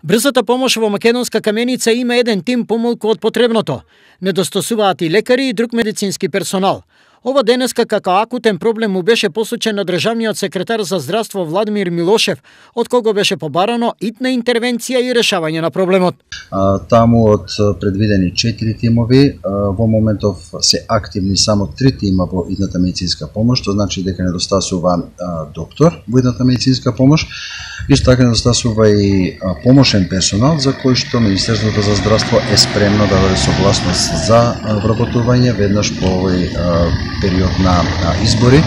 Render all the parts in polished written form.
Брзата помош во Македонска Каменица има еден тим помалку од потребното. Недостасуваат и лекари и друг медицински персонал. Ова денеска како акутен проблем му беше посочен на државниот секретар за здравство Владимир Милошев, од кого беше побарано итна интервенција и решавање на проблемот. Таму од предвидени 4 тимови, во моментов се активни само 3 тима во итната медицинска помош, што значи дека недостасува доктор во итната медицинска помош. Исто така недостасува и помошен персонал за кој што Министерството за здравство е спремно да даде согласност за вработување веднаш по овој период на избори,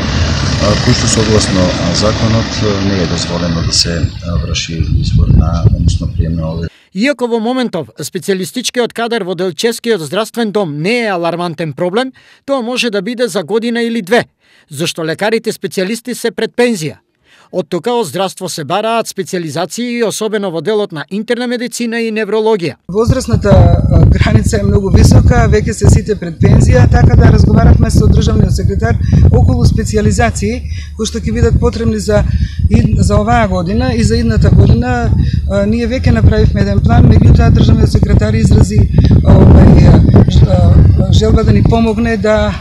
кој што согласно законот не е дозволено да се врши избор на односно прием на овој. Иако во моментов специјалистичкиот кадар во Делчевскиот здравствен дом не е алармантен проблем, тоа може да биде за година или две, зашто лекарите специјалисти се пред пензија. Од тука од здравство се бараат специјализации, особено во делот на интерна медицина и неврологија. Возрастната граница е многу висока, веќе се сите пред пензија, така да разговаравме со државниот секретар околу специјализации кои што ќе бидат потребни за оваа година и за идната година. Ние веќе направивме еден план, меѓутоа државниот секретар изрази желба да ни помогне да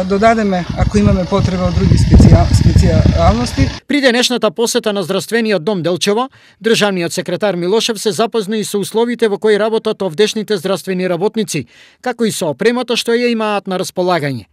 додадеме, ако имаме потреба од други специјалности. При денешната посета на здравствениот дом Делчево, државниот секретар Милошев се запозна и со условите во кои работат овдешните здравствени работници, како и со опремата што ја имаат на располагање.